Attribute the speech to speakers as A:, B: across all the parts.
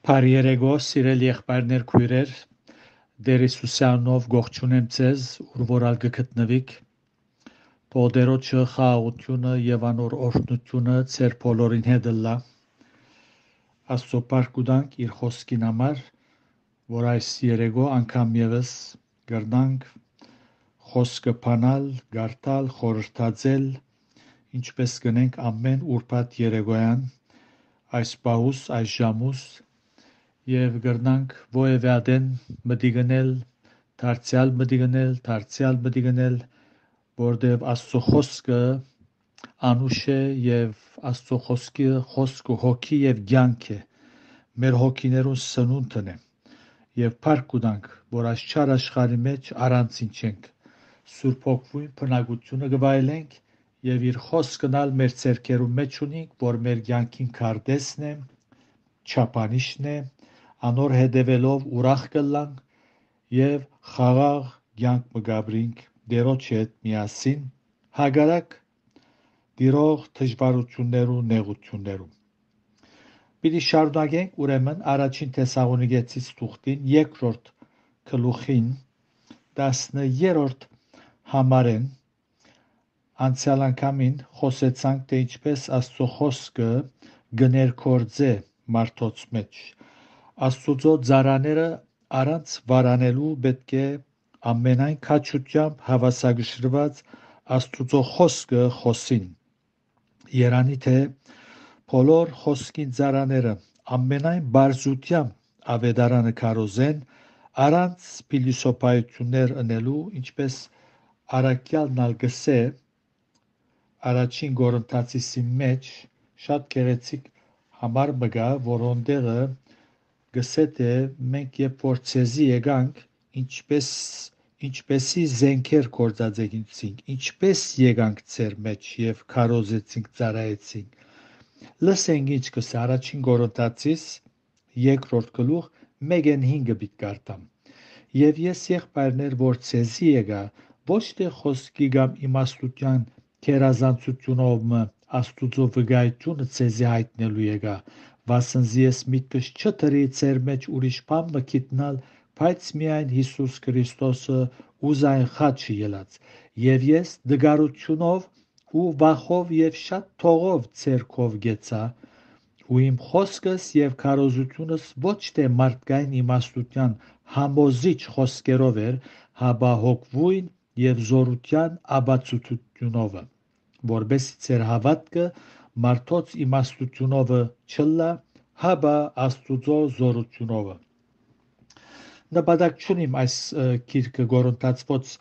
A: Բարերեգո սիրելի եղբայրներ քույրեր Դեր Հիսուսյանով գողջունեմ ձեզ ուր որալ գտնվիք Տոդերոջը խաղաղությունը եւ անոր օրհնությունը ձեր բոլորին հետ լա Աստծո բարգուտանք իր խոսքին համար որ այս երեգո անգամ եւս գրնանք խոսքը բանալ գարտալ խորհրդածել ինչպես կնենք ամեն ուրբաթ երեգոյան այս պահուս այս ժամուս Եվ գրնանք ովևէ ադեն մտիգնել, դարձյալ մտիգնել, որտև Աստծո խոսքը անուշ է եւ Աստծո խոսքը հոգի եւ կյանք է, մեր հոգիներուն սնունդն է եւ փառք ունենք, որ այս չար աշխարհի մեջ առանցին չենք, Սուրբ Հոգին բնակությունը գվայելենք եւ իր խոսքն ալ մեր ցերկերու մեջ ունենք, որ մեր կյանքին քարտեսն է, չափանիշն է Անոր հետևելով ուրախ կլանք եւ խաղաղ կյանք մգաբրինք Տերոջ հետ միասին հագարակ դիրող դժվարություններու նեղություններու Պիտի շարունակենք ուրեմն առաջին Թեսաղոնիկեցիս թուղթին երկրորդ գլուխին 10-րդ համարեն անցյալ անգամին խոսեցանք թե ինչպես Աստծո խոսքը գներկործե մարդոց մեջ Աստուծո ծառաները առանց վարանելու պետք է ամենայն քաջությամբ հավասարգշրված Աստուծո խոսքը խոսին Երանի թե բոլոր խոսքին ծառաները ամենայն բարձրությամբ ավետարանը քարոզեն առանց փիլիսոփայություններ ընելու ինչպես առաքյալն ալ գսե առաջին Կորինթացիսի մեջ շատ գեղեցիկ համար մգա որոնտեղը գսե թե մենք երբ որ ցեզի եկանք ինչպեսի զենքեր կործածեցինք ինչպես եկանք ձեր մեջ եւ քարոզեցինք ծառայեցինք լսենք ինչ կսե առաջին Կորինթացիս երկրորդ գլուխ 1-5 բիտ կարտամ եւ ես եղբայրներ որ ցեզի եկա ոչ թե խոսքի կամ իմաստության քերազանցությունով Աստուծո վկայությունը ցեզի հայտնելու եկա վասնզի ես միտքս չդրի ձեր մեջ ուրիշ բան մգիտնալ բայց միայն Հիսուս Քրիստոսը ուզայն խաչը ելած եւ ես դգարությունով ու վախով եւ շատ թողով ցերկով գեցա ու իմ խոսքս եւ քարոզությունս ոչ թե մարդկային իմաստության համոզիչ խոսքերով էր հաբա հոգվույն եւ զորության աբացությունով որբեսի ձեր հավատքը մարդոց իմաստությունով չլա հաբա Աստուծո զորությունով նպատակ չունիմ այս գիրքը Կորինթացվոց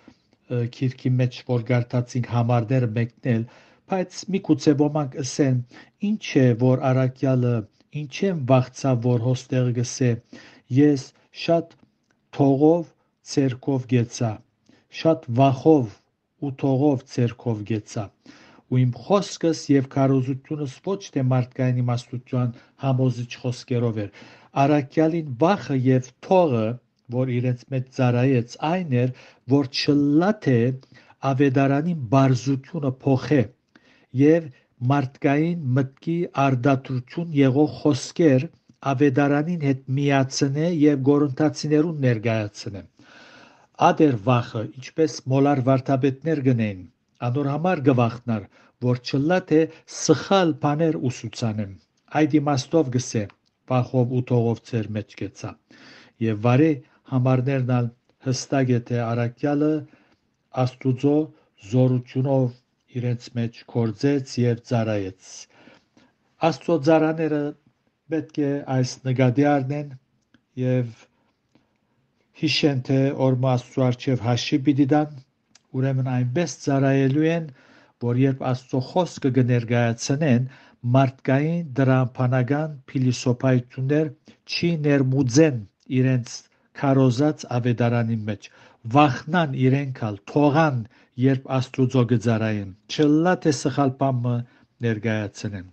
A: գիրքի մեջ որ գարտացինք համարները մեկնել բայց միգուցե ոմանք ասեն ինչ է որ առաքյալը ինչ եմ վախցավ որ հոստեղ գսե ես շատ թողով ցերկով գեցա շատ վախով ու թողով ցերկով գեցա ու իմ խոսքս եւ քարոզությունս ոչ թե մարդկային իմաստության համոզիչ խոսքերով էր առաքյալին վախը եւ թողը որ իրենց մեջ ծառայեց այն էր որ չլա թե ավետարանին բարձությունը փոխե եւ մարդկային մտքի արդարություն եղող խոսքեր ավետարանին հետ միացնե եւ Կորինթացիներուն ներկայացնե ադեր վախը ինչպես մոլար վարդապետներ գնեն անոր համար գվախնար որ չլա թե սխալ բաներ ուսուցանեմ այդ իմաստով գսե վախով ու թողով ծեր մեջ գեցա եւ վարի համարներն ալ հստակ է թե առաքյալը Աստուծո զորությունով իրենց մեջ կործեց եւ ծառայեց Աստծո ծառաները պետք է այս նկատի առնեն եւ հիշեն թե օրմա Աստծո արչեւ հաշի պիտի տան ուրեմն այնպես ծառայելու են որ երբ Աստծո խոսքը կներկայացնեն մարդկային դրամփանական փիլիսոփայություններ չի ներմուծեն իրենց քարոզած ավետարանի մեջ վախնան իրենք ալ թողան երբ Աստուծո գծարային չլա թե սխալ բամը ներկայացնեն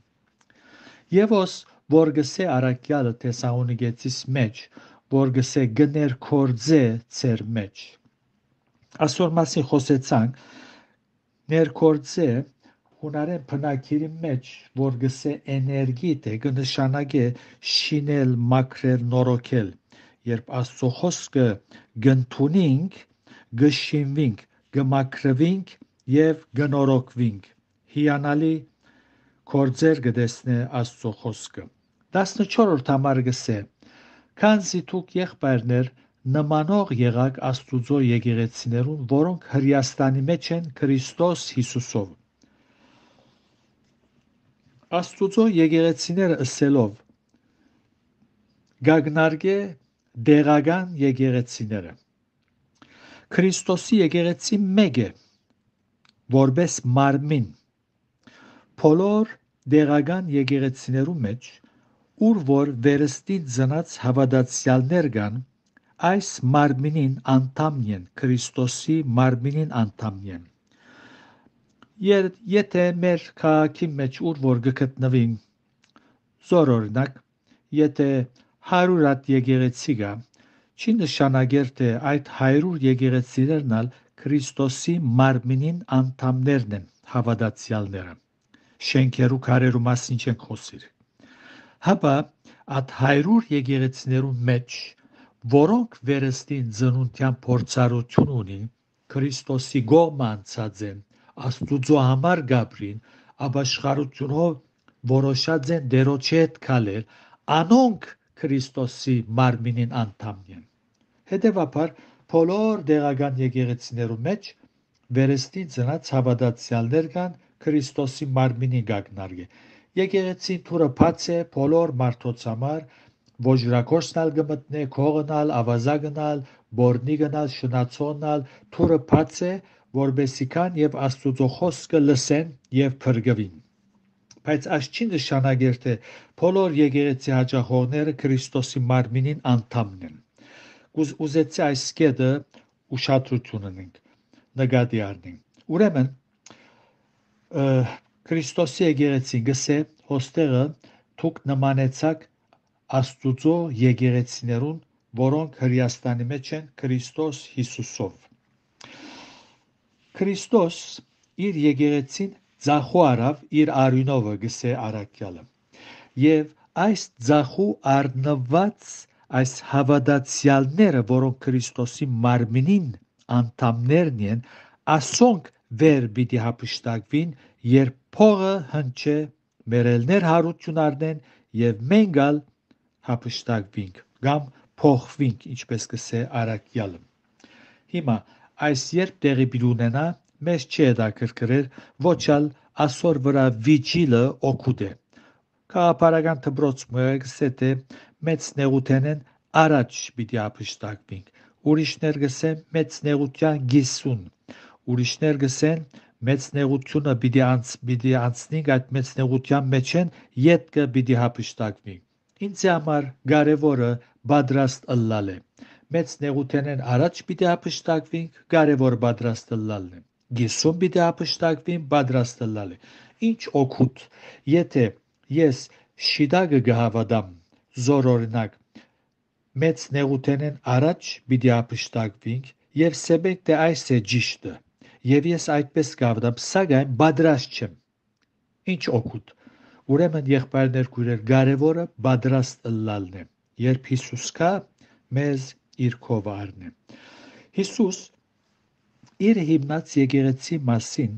A: Եվոս որ գսե առաքյալը Թեսաղոնիկեցիս մեջ որ գսե գներկործե ծեր մեջ Այսօր մասին խոսեցանք ներկործե հունարեն բնակիրի մեջ, որ գսե էներգիտ է, կնշանակե շինել, մաքրել, նորոգել, երբ Աստծո խոսքը գնդունինք, գշինվինք, գմաքրվինք եւ գնորոգվինք, հիանալի կործեր գտեսնե Աստծո խոսքը։ 14-րդ համար գսե, քանզի դուք եղբայրներ նմանող եղաք Աստուծո եկեղեցիներուն, որոնք Հրեաստանի մեջ են Քրիստոս Հիսուսով։ Աստուծո եկեղեցիները ըսելով գագնարգե դեղական եկեղեցիները։ Քրիստոսի եկեղեցի մեկ է, որպես մարմին։ Բոլոր դեղական եկեղեցիներու մեջ, ուր որ վերստին ծնած հավատացյալներ կան, այս մարմինին անդամն են, Քրիստոսի մարմինին անդամն են։ Եթե մեր քաղաքի մեջ ուր որ գտնվին, զոր օրինակ, եթե 100 հատ եկեղեցի կա, չի նշանակեր թե այդ 100 եկեղեցիներն ալ Քրիստոսի մարմինին անդամներն են, հավատացյալները։ Շենքերու քարերու մասին չենք խոսիր։ Հապա այդ 100 եկեղեցիներու մեջ, որոնք վերստին ծնունդյան փորձառություն ունին, Քրիստոսի կողմը անցած են, Աստուծո համար գաբրին, ապաշխարությունով որոշած են Տերոջի հետ քալել, անոնք Քրիստոսի մարմինին անդամն են։ Հետևաբար բոլոր դեղական եկեղեցիներու մեջ վերստին ծնած հավատացյալներ կան, Քրիստոսի մարմինին գագնարգե։ Եկեղեցին թուրը բաց է բոլոր մարդոց համար, ոժրակորսնալ գմտնե, քողնալ, ավազագնալ, բորնի գնալ, շնացոնալ, թուրը բաց է, որբեսի կան եւ Աստուծո խոսքը լսեն եւ փրկվին։ Բայց այս չի նշանակեր թե բոլոր եկեղեցի հաճախողները Քրիստոսի մարմինին անդամն են։ Ուզեցի այս կետը ուշադրություն ունենք, նկատի առնենք։ Ուրեմն Քրիստոսի եկեղեցին գսե հոստեղը դուք նմանեցաք Աստուծո եկեղեցիներուն, որոնք Հրեաստանի մեջ են Քրիստոս Հիսուսով։ Քրիստոս իր եկեղեցին ձախու արավ իր արյունովը գսե առաքյալը։ Եվ այս ձախու առնված այս հավատացյալները, որոնք Քրիստոսի մարմինին անդամներն են, ասոնք վեր պիտի հափշտակվին, երբ փողը հնչե, մերելներ հարություն առնեն եւ մենք ալ հափշտակվինք կամ փոխվինք, ինչպես կսե առաքյալը։ Հիմա այս երբ տեղի պիտի ունենա, մեզ չի հետաքրքրեր, ոչ ալ ասոր վրա վիճիլը օգուտ է։ Քաղաքական դպրոցը գսե թե մեծ նեղութենեն առաջ պիտի հափշտակվինք, ուրիշներ գսեն մեծ նեղության գիսուն, ուրիշներ գսեն մեծ նեղությունը պիտի անցնենք, այդ մեծ նեղության մեջ են ետքը պիտի հափշտակվինք։ Ինձ համար կարևորը պատրաստ ըլլալ է։ Մեծ նեղութենեն առաջ պիտի հափշտակվինք, կարևոր պատրաստ ըլլալն է։ Գիսում պիտի հափշտակվին, պատրաստ ըլլալ է։ Ինչ օգուտ, եթե ես շիդագը գհավադամ, զոր օրինակ, մեծ նեղութենեն առաջ պիտի հափշտակվինք եւ սեբենք թե այս է ճիշտը, եւ ես այդպես կավդամ, սակայն պատրաստ չեմ։ Ինչ օգուտ։ Ուրեմն եղբայրներ քույրեր, կարևորը պատրաստ ըլլալն է։ Երբ Հիսուս կա, մեզ իր քով առնե։ Հիսուս իր հիմնած եկեղեցի մասին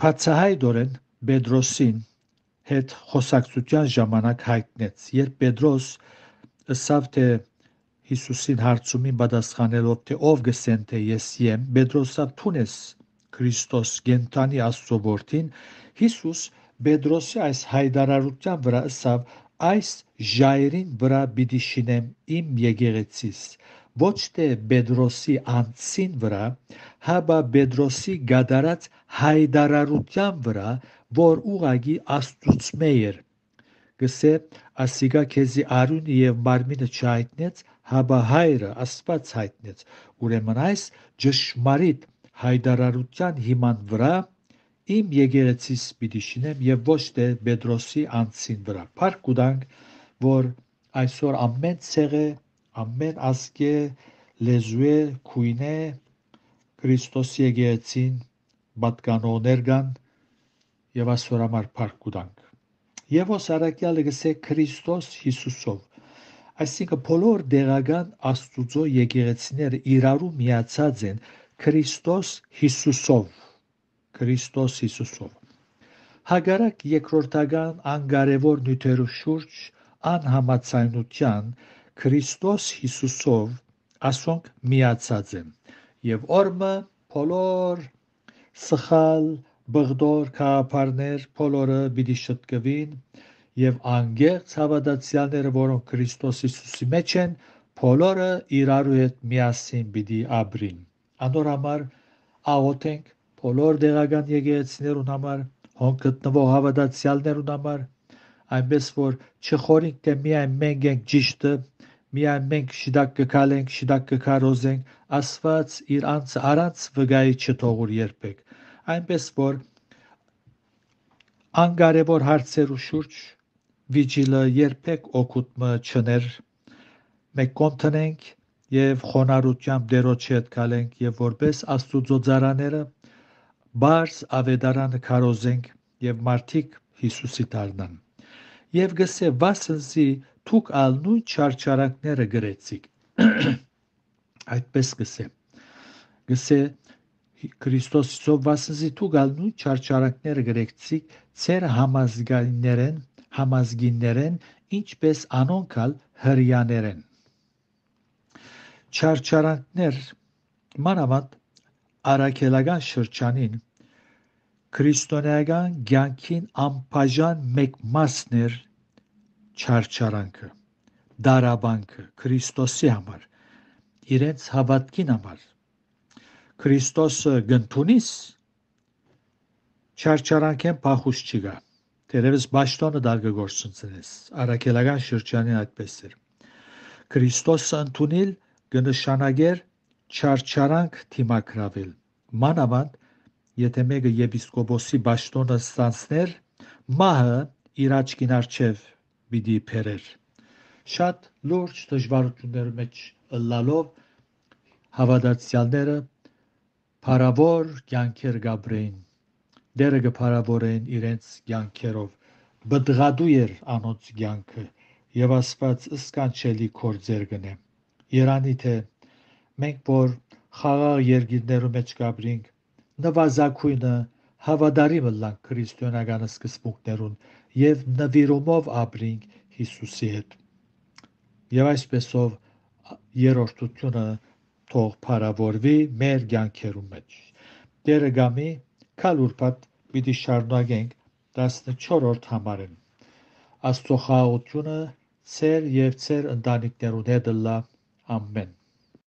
A: բացահայտորեն Պետրոսին հետ խոսակցության ժամանակ հայտնեց, երբ Պետրոս ըսավ թե Հիսուսին հարցումին պատասխանելով թե ով գսեն թե ես եմ, Պետրոսավ թունես Քրիստոս գենթանի Աստծո որդին, Հիսուս Պետրոսի այս հայտարարության վրա ըսավ այս ժայռին վրա պիտի շինեմ իմ եկեղեցիս, ոչ թե Պետրոսի անձին վրա, հապա Պետրոսի գադարած հայտարարության վրա, որ ուղագի Աստծուց էր։ Գսե ասիկա քեզի արյունը եւ մարմինը չհայտնեց, հապա հայրը Աստված հայտնեց։ Ուրեմն այս ճշմարիտ հայտարարության հիման վրա իմ եկեղեցիս պիտի շինեմ եւ ոչ թե Պետրոսի անձին վրա։ Փառք կուտանք, որ այսօր ամեն ցեղը, ամեն ազգը, լեզուե, քույնե Քրիստոսի եկեղեցին պատկանողներ կան, եւ այսօր համար փառք կուտանք։ Եվ ոս արաքյալը գսե Քրիստոս Հիսուսով, այսինքն բոլոր դեղական Աստուծո եկեղեցիները իրարու միացած են Քրիստոս Հիսուսով։ Հագարակ երկրորդական անկարևոր նյութերու շուրջ անհամաձայնության Քրիստոս Հիսուսով ասոնք միացած են եւ օրմը բոլոր սխալ բղդոր քահապարներ բոլորը պիտի շտկվին եւ անգեղծ հավատացյալները, որոնք Քրիստոս Հիսուսի մեջ են, բոլորը իրարու հետ միասին պիտի ապրին։ Անոր համար աղոթենք բոլոր դեղական եկեղեցիներուն համար, հոն գտնվող հավատացյալներուն համար, այնպես որ չխորինք թե միայն մենք ենք ճիշտը, միայն մենք շիդակ կգալենք, շիդակ կգարոզենք, Աստված իր անձը առանց վգայի չթողուր երբեք, այնպես որ անկարևոր հարցերու շուրջ վիճիլը երբեք օգուտ մը չներ, մենք կոնտնենք եւ խոնարհությամբ Տերոջի հետ գալենք եւ որպես Աստուծո ծառաները բարձ ավետարանը քարոզենք եւ մարդիկ Հիսուսի դառնան։ Եվ գսե վասնզի թուք ալ նույն չարչարանքները գրեցիք։ Այդպես գսե Քրիստոսով վասնզի թուք ալ նույն չարչարանքները գրեցիք ծեր համազգիներեն, ինչպես անոնք ալ հրյաներեն։ Չարչարանքներ մանավանդ արաքելական շրջանին քրիստոնեական կյանքին անբաժան մեկ մասն էր չարչարանքը, դարաբանքը Քրիստոսի համար, իրենց հավատքին համար։ Քրիստոսը գնդունիս չարչարանքեն փախուս չկա, դերևս բաշտոնը դարգը գործունցնես, արաքելական շրջանին այդպես էր։ Քրիստոսը ընդունել կնշանակեր չարչարանք թիմակրավել, մանավանդ եթե մեկը եպիսկոպոսի բաշտոնը ստանցներ, մահը իր աչքին առջև պիտի բերեր։ Շատ լուրջ դժվարությունների մեջ ըլլալով հավատացյալները փառավոր կյանքեր գաբրեին, դերը կփառավորեին իրենց կյանքերով, բդղադու էր անոնց կյանքը եւ Աստված սքանչելի գործեր գնե։ Երանի թե մենք որ խաղաղ երկիրներու մեջ գաբրինք, նվազագույնը հավատարիմ ըլլանք քրիստոնեական սկզբունքներուն եւ նվիրումով ապրինք Հիսուսի հետ։ Եվ այսպեսով երրորդությունը թող փառավորվի մեր կյանքերու մեջ։ Տերը գամի քալուրփատ պիտի շարունակենք 14-րդ համարեն։ Աստծո խաղաղությունը ցեր եւ ցեր ընտանիքներուն հետ լա։ Ամեն։